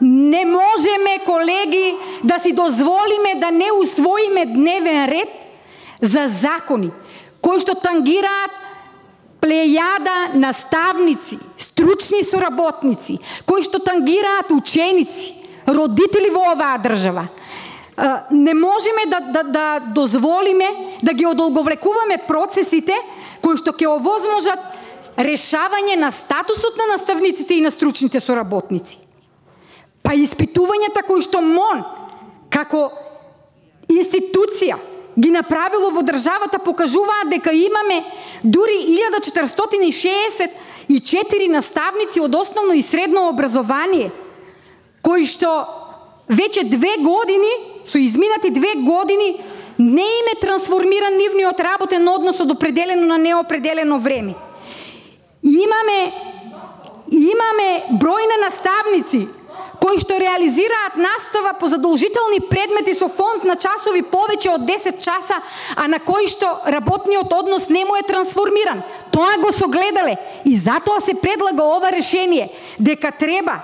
Не можеме, колеги, да си дозволиме да не усвоиме дневен ред за закони кои што тангираат плејада наставници, стручни соработници, кои што тангираат ученици, родители во оваа држава. Не можеме да дозволиме да ги одолговлекуваме процесите кои што ќе овозможат решавање на статусот на наставниците и на стручните соработници. Па испитувањата кои што МОН како институција ги направило во државата покажуваат дека имаме дури 1464 наставници од основно и средно образование кои што веќе 2 години, со изминати 2 години, не им е трансформиран нивниот работен однос од определено на неопределено време. Имаме број на наставници кои што реализираат настава по задолжителни предмети со фонд на часови повеќе од 10 часа, а на кои што работниот однос не му е трансформиран. Тоа го согледале и затоа се предлага ова решение дека треба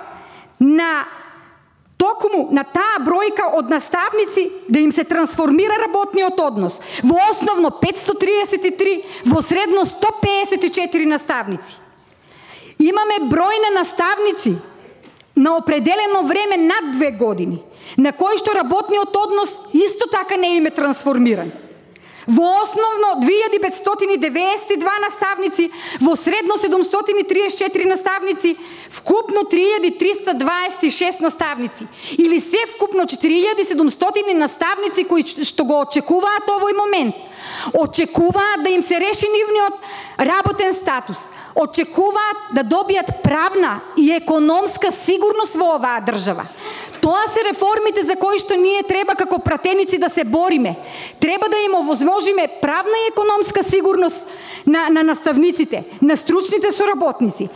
токму на таа бројка од наставници да им се трансформира работниот однос. Во основно 533, во средно 154 наставници. Имаме број на наставници на определено време над 2 години, на кои што работниот однос исто така не им е трансформиран. Во основно 2592 наставници, во средно 734 наставници, вкупно 3326 наставници. Или се вкупно 4700 наставници кои што го очекуваат овој момент. Очекуваат да им се реши нивниот работен статус. Очекуваат да добијат правна и економска сигурност во оваа држава. Тоа се реформите за кои што ние треба како пратеници да се бориме. Треба да им овозможиме правна и економска сигурност на наставниците, на стручните соработници.